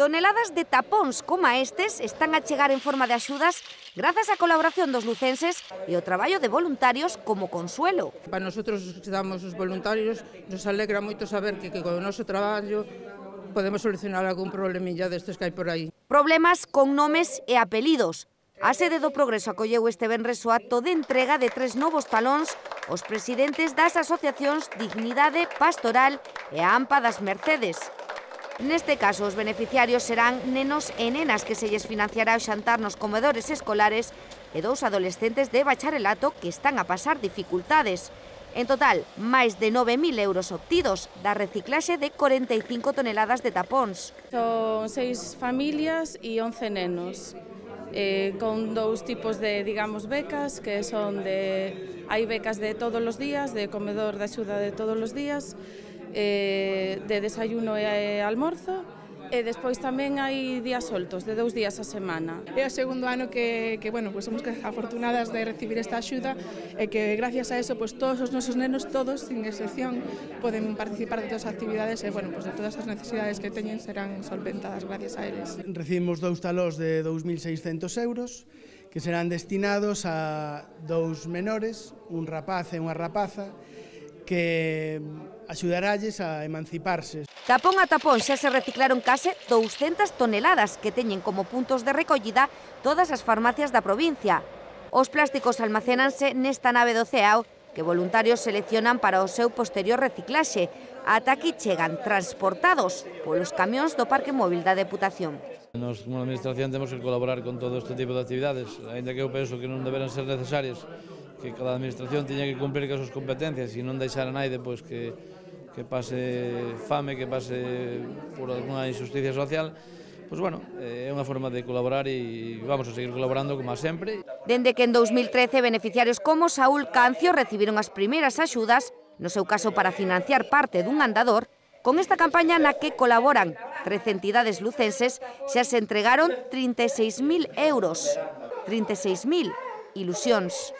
Toneladas de tapóns como estes están a chegar en forma de axudas grazas á colaboración dos lucenses e o traballo de voluntarios como Consuelo. Para nosotros que damos os voluntarios nos alegra moito saber que co noso traballo podemos solucionar algún problemilla destes que hai por aí. Problemas con nomes e apelidos. A sede do Progreso acolleu este venres o acto de entrega de 3 novos talóns aos presidentes das asociacións Dignidade Pastoral e a AMPA das Mercedes. Neste caso, os beneficiarios serán nenos e nenas que se lles financiará o xantar nos comedores escolares e 2 adolescentes de bacharelato que están a pasar dificultades. En total, máis de 9.000 euros obtidos da reciclaxe de 45 toneladas de tapóns. Son 6 familias e 11 nenos, con 2 tipos de, digamos, becas, que son hai becas de todos os días, de comedor de axuda de todos os días, de desayuno e almorzo, e despois tamén hai días soltos, de 2 días a semana. É o segundo ano que pues somos afortunadas de recibir esta axuda e que gracias a eso pues todos os nosos nenos, todos, sin excepción, poden participar de todas as actividades e pues de todas as necesidades que teñen serán solventadas gracias a eles. Recibimos 2 talóns de 2.600 euros que serán destinados a 2 menores, un rapaz e unha rapaza, que axudaralles a emanciparse. Tapón a tapón xa se reciclaron case 200 toneladas que teñen como puntos de recollida todas as farmacias da provincia. Os plásticos almacénanse nesta nave do CEAO que voluntarios seleccionan para o seu posterior reciclaxe. Ata aquí chegan transportados polos camións do Parque Móvil da Deputación. Nos, como administración, temos que colaborar con todo este tipo de actividades, ainda que eu penso que non deberán ser necesarias, que cada administración tiña que cumprir con as súas competencias e non deixar a naide pois, que pase fame, que pase por alguna injusticia social. Pois bueno, é unha forma de colaborar e vamos a seguir colaborando como sempre. Dende que en 2013 beneficiarios como Saúl Cancio recibiron as primeiras axudas, no seu caso para financiar parte dun andador, con esta campaña na que colaboran 13 entidades lucenses xa se entregaron 36.000 euros. 36.000 ilusións.